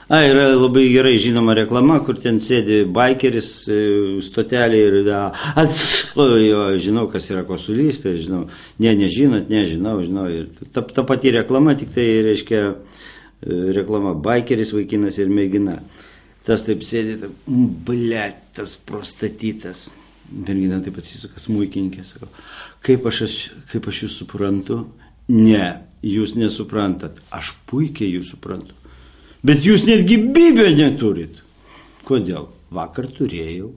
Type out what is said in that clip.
Yra labai gerai žinoma reklama, kur ten sėdi baikeris stotelė ir jo, žinau, kas yra kosulys, tai žinau, nežinot, nežinau. Ir ta pati reklama, tik tai reiškia reklama baikeris, vaikinas ir mergina. Tas taip sėdi, blet, tas prostatytas. Mergina taip atsisuka, smuikininkė, sako, kaip aš jūs suprantu? Ne, jūs nesuprantat, aš puikiai jūs suprantu. Bet jūs netgi bibę neturit. Kodėl? Vakar turėjau.